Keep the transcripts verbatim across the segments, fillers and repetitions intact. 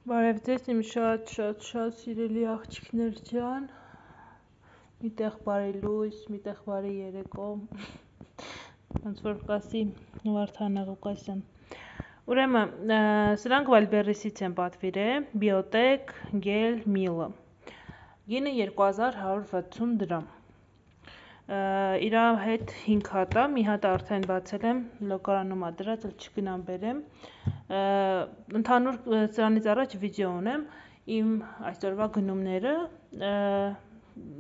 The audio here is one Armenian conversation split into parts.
Բարև ձեզ իմ շատ շատ շատ սիրելի աղջիկներ ջան, մի տեղ բարի լույս, մի տեղ բարի երեկո, ոնց որ կասի Վարդան Ղուկասյան։ Ուրեմն սրանք Վալբերեսից են պատվիրել, Biotech Gel Meal-ը, գինը երկու հազար հարյուր վաթսուն դրամ, իր հետ հինգ հատ է, մի հատ արդեն բացել եմ, լոկարանում է դրած, չգնամ բերեմ, ընդհանուր սրանից առաջ վիդեո ունեմ, իմ այսօրվա գնումները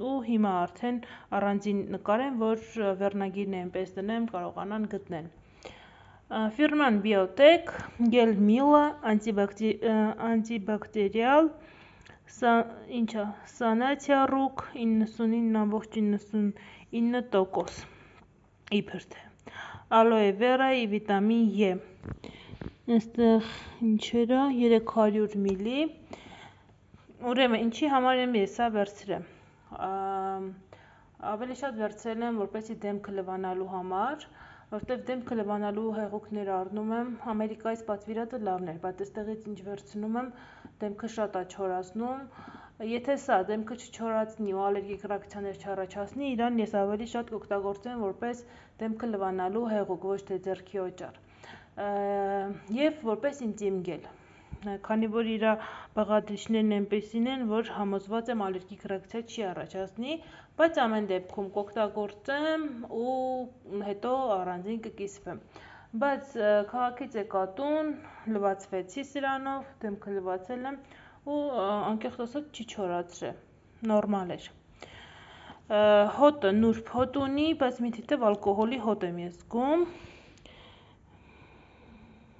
ու հիմա արդեն առանձին նկարեմ, որ վերնագիրն այնպես դնեմ, կարողանան գտնել։ Ֆիրման Biotech Gel Meal-ը անտիբակտերիալ, ինչա, Սանացիա Ռուկ իննսունինը նավոք իննսունինը տոկոս, իբրդ է, ալոե վերայի վիտամին E, այստեղ ինչերա, երեք հարյուր միլի, ուրեմն ինչի համար եմ ես սա վերցրել, ավելի շատ վերցրել եմ, որպեսի դեմքը լվանալու համար, որտև դեմքը լվանալու հեղուկներ առնում եմ, Ամերիկայից պատվիրատը լավն էր, բայց այստեղից ինչ վերցնում եմ, դեմքը շատ է չորացնում, եթե սա դեմքը չչորացնի ու ալերգիկ ռեակցիաներ չառաջացնի, իրան ես ավելի շատ կօգտագործեմ որպես դեմքը լվանալու հեղուկ, ոչ թե ձեռքի օճառ, և որպես ինտիմ գել, քանի որ իր բաղադրիչներն այնպեսին են, որ համոզված եմ ալերգիկ ռեակցիա չի առաջացնի, բայց ամեն դեպքում կօգտագործեմ ու հետո առանձին կկիսվեմ, բայց քաղաքից եկա տուն, լվացվեցի սրանով, դեմքը լվացել եմ ու անկեղծ ասած չի չորացրել, նորմալ էր, հոտը նուրբ հոտ ունի, բայց մի թիթև ալկոհոլի հոտ եմ ես զգում,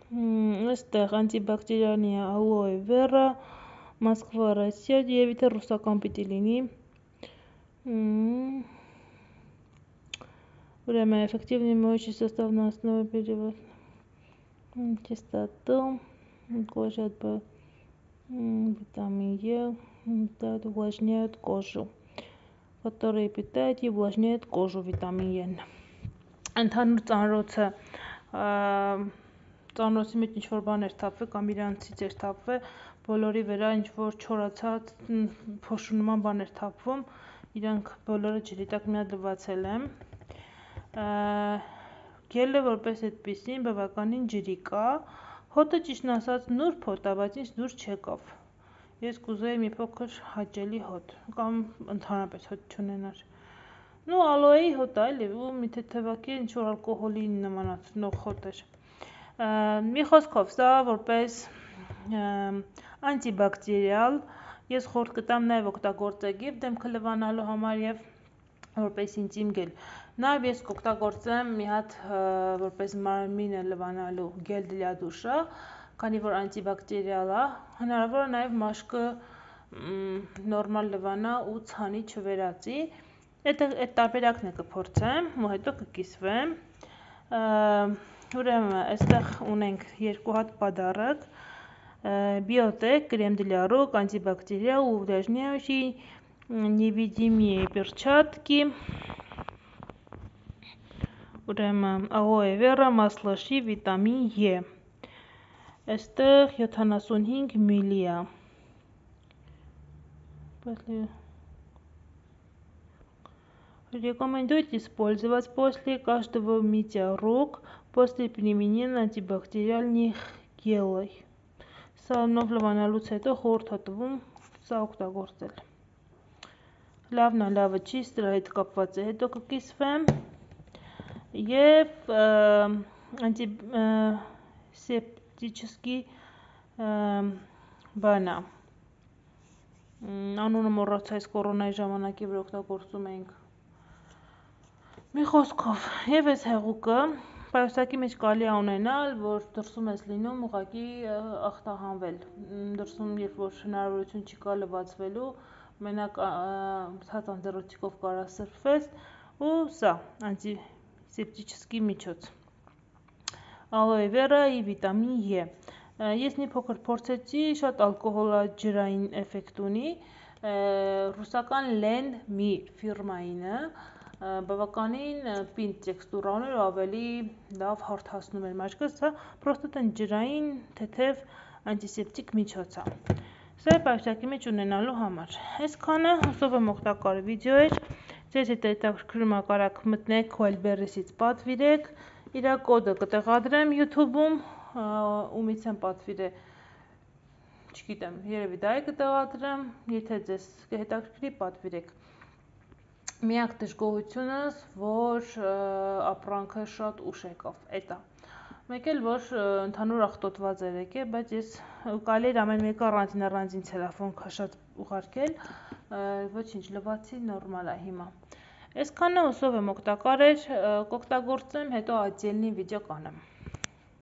այստեղ անտիբակտերիալն է ալոե վերա, Մոսկվա, Ռոսիա, և եթե ռուսական պիտի լինի, ուրեմն էֆեկտիվնի моющий состав на основе перевод чистоту, кожа витамин Е, увлажняет кожу, который питает и увлажняет кожу վիտամին E-ն, ընդհանուր ծանրոցը, ծանրոցի մեջ ինչ-որ բան էր թափվել կամ իրանցից էր թափվել, բոլորի վրա ինչ-որ չորացած փոշու նման բան էր թափվում, իրանք բոլորը ջրի տակ մի հատ լվացել եմ, գելը որպես այդպիսին բավականին ջրիկ է, հոտը ճիշտն ասած նուրբ հոտ է, բայց ինձ դուր չեկավ, ես կուզեի մի փոքր հաճելի հոտ, կամ ընդհանրապես հոտ չունենար, ու ալոեի հոտ է էլի, ու մի թեթևակի ինչ-որ ալկոհոլի նմանացնող հոտ էր, մի խոսքով սա որպես անտիբակտերիալ, ես խորհուրդ կտամ նաև օգտագործեք և դեմքը լվանալու համար և որպես ինտիմ գել, նաև ես կօգտագործեմ մի հատ որպես մարմինը լվանալու գել դլյա դուշա, քանի որ անտիբակտերիալ է, հնարավոր է նաև մաշկը նորմալ լվանա ու ցանի չվերածի, այդ տարբերակն է կփորձեմ ու հետո կկիսվեմ, ուրեմն այստեղ ունենք երկու հատ պադառակ, Biotech крем для рук, антибактериал, увлажняющий, невидимые перчатки, ուրեմն ալոե վերա, масло շի, վիտամին E, այստեղ յոթանասունհինգ միլի է, рекомендуют использовать после каждого мытья рук, после применения антибактериальных гелей, սրանով լվանալուց հետո խորհուրդ է տվում սա օգտագործել, լավն է, լավը չի, սրա հետ կապված է, հետո կկիսվեմ և անտիսեպտիչեսկի բան է, անունը մոռացա, այս կորոնայի ժամանակի վրա օգտագործում էինք, մի խոսքով, և այս հեղուկը, պայուսակի մեջ կարելի է ունենալ, որ դրսում ես լինում ուղղակի ախտահանվել, դրսում երբ որ հնարավորություն չկա լվացվելու, մենակ ցած անձեռնոցիկով կարա սրբվես ու սա անտիսեպտիչեսկի միջոց, ալոե վերա և վիտամին E, ես մի փոքր փորձեցի, շատ ալկոհոլաջրային էֆեկտ ունի, ռուսական Len Mi ֆիրմայինը, բավականին պինդ տեքստուրա ուներ ու ավելի լավ հարթացնում էր մաշկը, սա պրոստը ջրային թեթև անտիսեպտիկ միջոց է։ Սա է պայուսակի մեջ ունենալու համար։ Այսքանը, հուսով եմ օգտակար վիդեո էր, ձեզ հետ հետաքրքրում է կարաք մտնեք Wildberries-ից պատվիրեք, իրա կոդը կտեղադրեմ YouTube-ում, ումից եմ պատվիրե, չգիտեմ, երևի դա է կտեղադրեմ, եթե ձեզ հետաքրքրի պատվիրեք։ Միակ դժգոհությունս, որ ապրանքը շատ ուշ եկավ, էդ է։ Մեկ էլ որ ընդհանուր աղտոտված էր եկել, բայց ես կարելի էր ամեն մեկը առանձին առանձին ցելոֆան քաշած ուղարկել, ոչինչ, լվացի, նորմալ է հիմա։ Այսքանը, հուսով եմ օգտակար էր, կօգտագործեմ, հետո ատելնի վիդեո կանեմ։